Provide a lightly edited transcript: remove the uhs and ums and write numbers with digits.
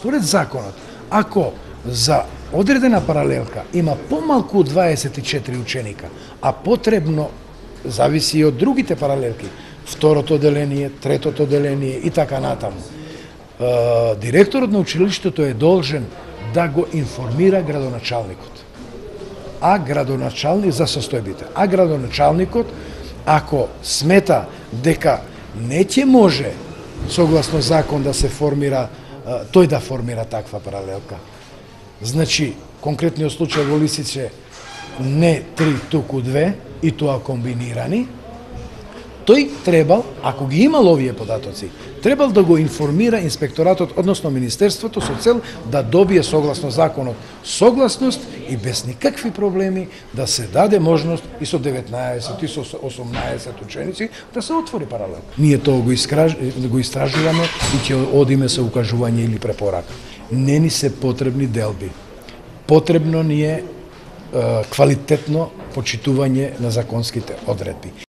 според законот, ако за одредена паралелка има помалку од 24 ученика, а потребно зависи и од другите паралелки, второто оделение, третото оделение и така натаму, директорот на училиштето е должен да го информира градоначалникот. За состојбите. А градоначалникот, ако смета дека не ќе може согласно закон да се формира, тој да формира таква паралелка. Значи, конкретниот случај во Лисице не 3, туку 2, и тоа комбинирани, тој требал, ако ги имал овие податоци, требал да го информира инспекторатот, односно Министерството, со цел да добие согласно законот согласност и без никакви проблеми да се даде можност и со 19 и со 18 ученици да се отвори паралелка. Ние тоа го истражуваме и ќе одиме со укажување или препорака. Не ни се потребни делби. Потребно ни е квалитетно почитување на законските одредби.